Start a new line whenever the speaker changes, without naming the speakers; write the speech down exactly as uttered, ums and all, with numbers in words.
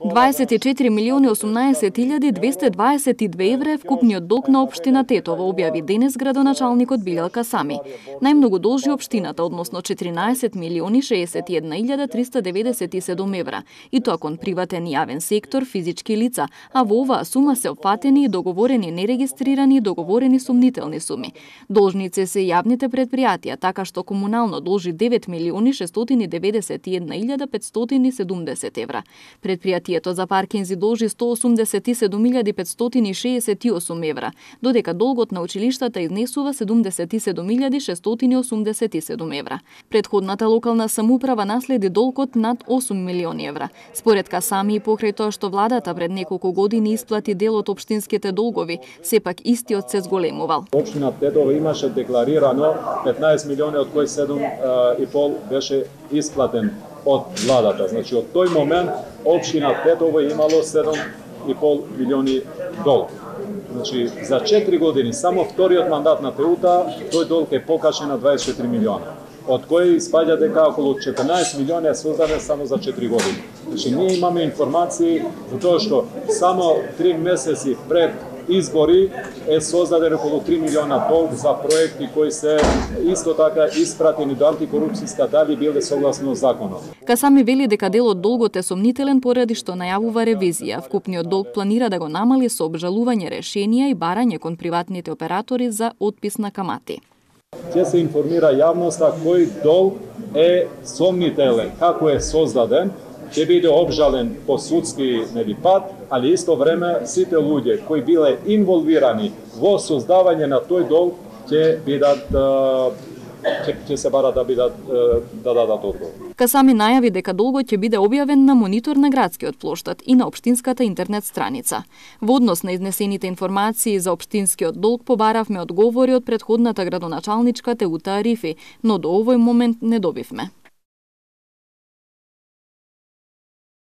дваесет и четири милиони осумнаесет илјади двесте дваесет и две евра е вкупниот долг на општина Тетово, објави денес градоначалникот Билјал Касами. Најмногу должи општината, односно четиринаесет милиони шеесет и една илјада триста деведесет и седум евра, и тоа кон приватен и јавен сектор, физички лица, а во оваа сума се опфатени и договорени нерегистрирани и договорени сумнителни суми. Должници се јавните претпријатија, така што комунално должи девет милиони шестстотини деветдесет и една илјада петстотини и седумдесет евра. Предпријатието за паркинзи должи сто осумдесет и седум илјади петстотини и шеесет и осум евра, додека долгот на училиштата изнесува седумдесет и седум илјади шестстотини и осумдесет и седум евра. Претходната локална самоуправа наследи долгот над осум милиони евра. Според Касами и покрај тоа што владата пред неколку години исплати дел од општинските долгови, сепак истиот се зголемувал.
Општина Тетово имаше декларирано петнаесет милиони, од кои седум и пол беше исплатен од владата. Значи, од тој момент општина Тетово имало седум и пол милиони долг. Значи, за четири години, само вториот мандат на ТЕУ-та, тој долг е покачен на дваесет и четири милиона, од кои испаѓа дека околу четрнаесет милиони е создаден само за четири години. Значи, ние имаме информации за тоа што само три месеци пред избори е создаден околу три милиона долг за проекти кои се исто така испратени до антикорупцијска, дали биле согласно законот.
Касами вели дека дел од долгот е сомнителен поради што најавува ревизија. Вкупниот долг планира да го намали со обжалување решенија и барање кон приватните оператори за отпис на камати.
Ќе се информира јавноста кој долг е сомнителен, како е создаден, ќе биде обжален по судски нели пат, али исто време сите луѓе кои биле инволвирани во создавање на тој долг ќе бидат ќе, ќе се барат да бидат да дадат одговор.
Касами најави дека долгот ќе биде објавен на монитор на градскиот плоштад и на општинската интернет страница. Во однос на изнесените информации за општинскиот долг побаравме одговори од претходната градоначалничка Теута Арифи, но до овој момент не добивме.